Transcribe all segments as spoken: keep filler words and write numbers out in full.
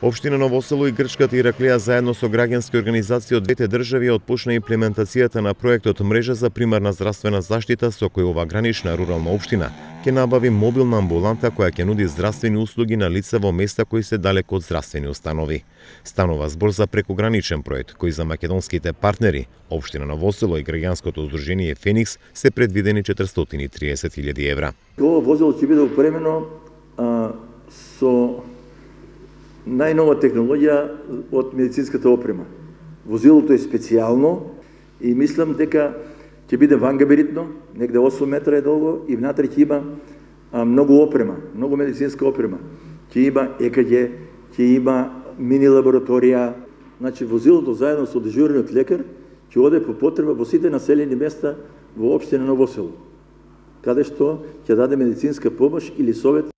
Општина Ново Село и Грчката Ираклија заедно со граѓански организации од двете држави отпочна имплементацијата на проектот Мрежа за примарна здравствена заштита, со кој ова гранична рурална општина ќе набави мобилна амбуланта која ќе нуди здравствени услуги на лица во места кои се далеко од здравствени установи. Станува збор за прекограничен проект кој за македонските партнери, општина Ново Село и граѓанското удружение Феникс, се предвидени четиристотини и триесет илјади евра. Ова возило ќе биде опремено а, со најнова технологија од медицинската опрема. Возилото е специјално и мислам дека ќе биде вангаберитно, негде осум метра е долго и внатре ќе има а, многу опрема, многу медицинска опрема. Ќе има Е К Г, ќе има мини лабораторија. Значи возилото заедно со дежурниот лекар ќе оде по потреба во сите населени места во општина Ново Село, каде што ќе даде медицинска помош или совет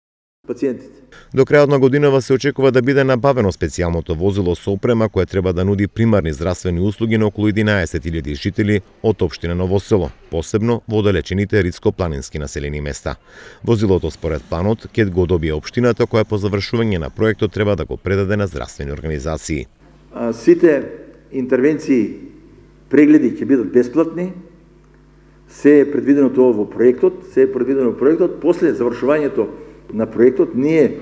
пациентите. До крајот на годинава се очекува да биде набавено специјалното возило со опрема која треба да нуди примарни здравствени услуги на околу единаесет илјади жители од општина Ново Село, посебно во оддалечените ридско-планински населени места. Возилото според планот ќе го добие општината која по завршување на проектот треба да го предаде на здравствени организации. А, сите интервенции, прегледи ќе бидат бесплатни. Се е предвидено тоа во проектот, се е предвидено во проектот. После завршувањето на проектот, ние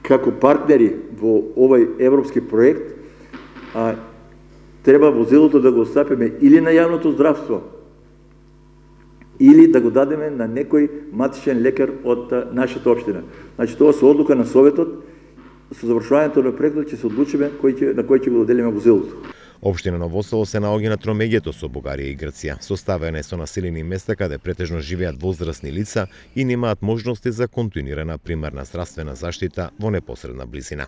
како партнери во овој европски проект а, треба возилото да го остапиме или на јавното здравство, или да го дадеме на некој матичен лекар од а, нашата општина. Значи тоа со одлука на советот, со завршувањето на проектот ќе се одлучиме кој ќе, на кој ќе го доделиме возилото. Општина Ново Село се наоѓа на тромеѓето со Бугарија и Грција, составена е со населени места каде претежно живеат возрастни лица и немаат можности за континуирана примарна здравствена заштита во непосредна близина.